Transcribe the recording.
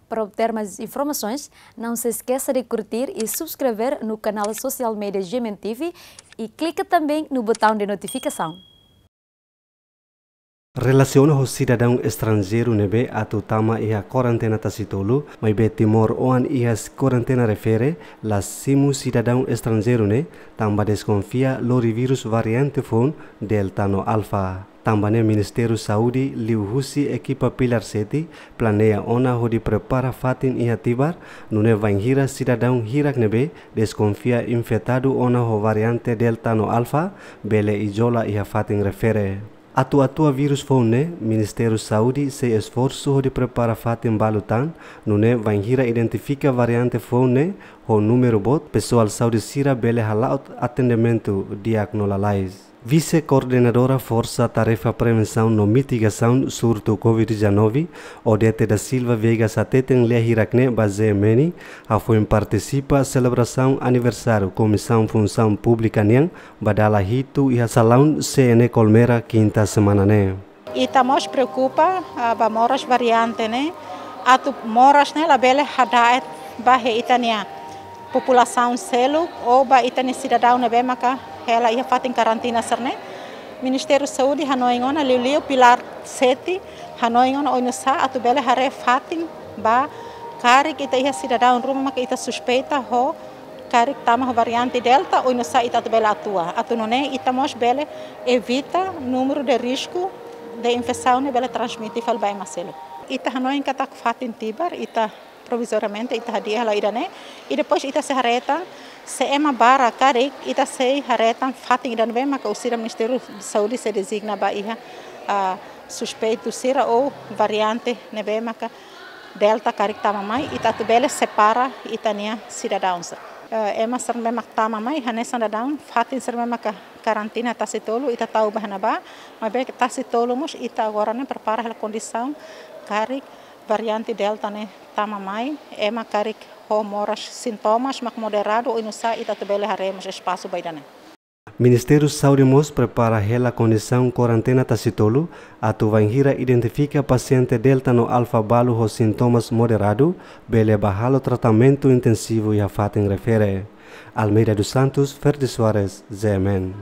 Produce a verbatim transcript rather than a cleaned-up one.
Para obter mais informações, não se esqueça de curtir e subscrever no canal social media G M N T V e clica também no botão de notificação. Relasiona ho sidadaun estranjeiru ne'ebé atu tama iha kuarentena tasi tolu, maibé Timor oan iha kuarentena refere, la simu sidadaun estranjeiru ne'e, tanba deskonfia lori vírus variante foun Delta no Alfa. Tanba ne'e Ministériu Saúde liuhusi ekipa Pilar Sete planeia ona hodi prepara fatin iha Tibar, nune'e bainhira sidadaun hirak ne'ebé deskonfia infetadu ona ho variante Delta no Alfa, bele izola iha fatin refere. Atu atua vírus foun ne'e, Ministériu Saúde sei esforsu hodi prepara fatin balu tan, nune'e bainhira identifika variante foun ne'e ho númeru boot, pesoál saúde sira bele hala'o atendimentu di'ak no lalais. Vise-Koordenadora Forsa Tarefa Prevensaun no Mitigasaun Surtu Covid dezanove, Odete da Silva Veiga hateten lia hirak ne'e ba G M N, hafoin partisipa selebrasaun aniversáriu Komisaun Funsaun Públika nian ba dala hitu iha salaun C N Colmera kinta semana ne'e. Ita mós preokupa, ah, ba moras variante ne'e, atu moras ne'e labele hada'et ba iha ita-nia populasaun seluk ou ba ita-nia sidadaun ne'ebé maka hela iha fatin karantina sira-ne'e. Ministériu Saúde hanoin ona, liuliu Pilar Sete hanoin ona oinsá atu bele haree fatin ba karik ita iha sidadaun ruma maka ita suspeita ho karik tama ho variante Delta, oinsá ita atu bele atua. Atu nune'e ita mós bele evita númeru de risku de infesaun ne'e bele transmite fali ba ema seluk. Ita hanoin katak fatin Tibar, ita provizoriamente ita hadi'a hela ida-ne'e, i depois ita sei haree tan, se ema barak karik, ita sei haree tan fatin ida ne'ebé maka orsida Ministériu Saúde sei dezigna ba iha, ah, suspeitu sira ou variante ne'ebé maka Delta karik tama mai, ita atu bele separa ita-nia sidadaun sira. Eh, ema sira ne'ebé maka tama mai, hanesan daudaun, fatin sira ne'ebé maka karantina tasi tolu, ita tau ba iha ne'ebá, maibé tasi tolu mós ita agora ne'e prepara hela kondisaun, karik variante Delta ne'e tama mai, ema karik ho moras sintomas mak moderadu, oinsá ita atu bele haree mós espasu ba ida-ne'e. Ministériu Saúde mós prepara hela kondisaun kuarentena tasi tolu, atu bainhira identifika pasiente Delta no Alfa balu ho sintomas moderadu, bele ba halo tratamentu intensivu iha fatin refere. Almeida dos Santos, Ferdi Soares, G M N.